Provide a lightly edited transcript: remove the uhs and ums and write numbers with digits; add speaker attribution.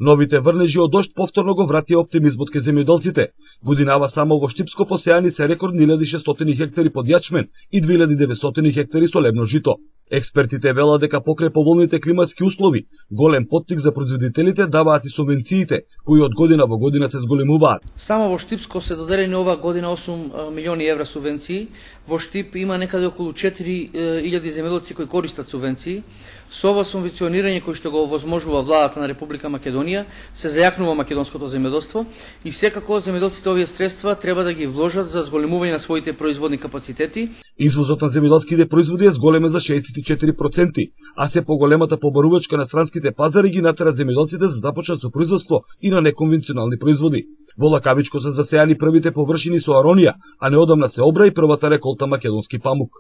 Speaker 1: Новите врнежи од дожд повторно го вратија оптимизмот кај земјоделците. Годинава само во Штипско посејани се рекордни 1600 хектари под јачмен и 2900 хектари солебно жито. Експертите велат дека покрај поволните климатски услови, голем поттик за производителите даваат и субвенциите, кои од година во година се зголемуваат.
Speaker 2: Само во Штипско се доделени ова година 8 милиони евра субвенции. Во Штип има некаде околу 4000 земјоделци кои користат субвенции. Со ова субвенционирање кој што го овозможува владата на Република Македонија, се зајакнува македонското земјоделство и секако земјоделците овие средства треба да ги вложат за зголемување на своите производни капацитети.
Speaker 1: Извозот на земјоделските производи е зголемен за 64%, а се поголемата побарувачка на странските пазари ги натера земјоделците да започнат со производство и на неконвенционални производи. Во Лакавичко се засејани првите површини со аронија, а неодамна се обра и првата реколта македонски памук.